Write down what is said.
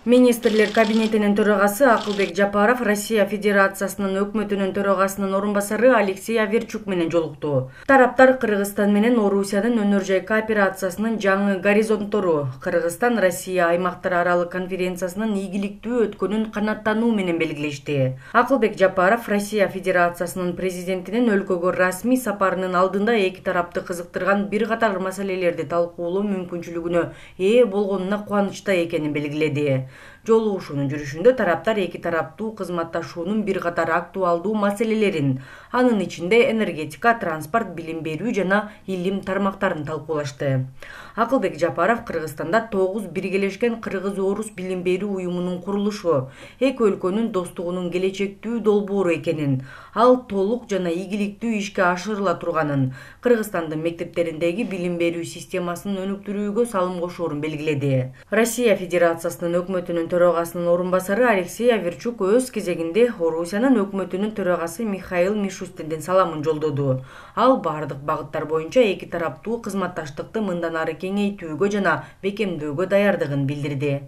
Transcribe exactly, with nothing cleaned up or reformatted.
Министрлер кабинетинин төрагасы Акылбек Жапаров Россия Федерациясынын өкмөтүнүн төрагасынын орун басары Алексей Аверчук менен жолукту. Тараптар Кыргызстан менен Орусиянын өнөр жай кооперациясынын жаңы горизонттору, Кыргызстан Россия аймактар аралык конференциясынын ийгиликтүү өткөнүн канааттануу менен белгилешти. Акылбек Жапаров Россия Федерациясынын президентинин өлкөгө расмий сапарынын алдында эки тарапты кызыктырган бир катар маселелерди талкуулоо мүмкүнчүлүгүнө ээ болгонуна кубанычта экенин белгиледи. Жолугушуунун жүрүшүндө тараптар эки тараптуу кызматташуунун бир катар актуалдуу маселелерин, анын ичинде энергетика, транспорт, билим берүү жана илим тармактарын талкуулашты. Акылбек Жапаров Кыргызстанда тогуз биргелешкен кыргыз-орус билим берүү уюмунун курулушу эки өлкөнүн достугунун келечектүү долбоору экенин, ал толук жана ийгиликтүү ишке ашырыла турганын, Кыргызстандын мектептериндеги билим берүү системасын өнүктүрүүгө салым кошоорун белгиледи. Россия Федерациясынын өкмөтүнүн төрагасынын орун басары Алексей Аверчук өз кезегинде Орусиянын өкмөтүнүн төрагасы Михаил Мишустиндин саламын жолдоду. Ал бардык багыттар боюнча эки тараптуу кызматташтыкты мындан ары кеңейтүүгө жана бекемдөөгө даярдыгын билдирди.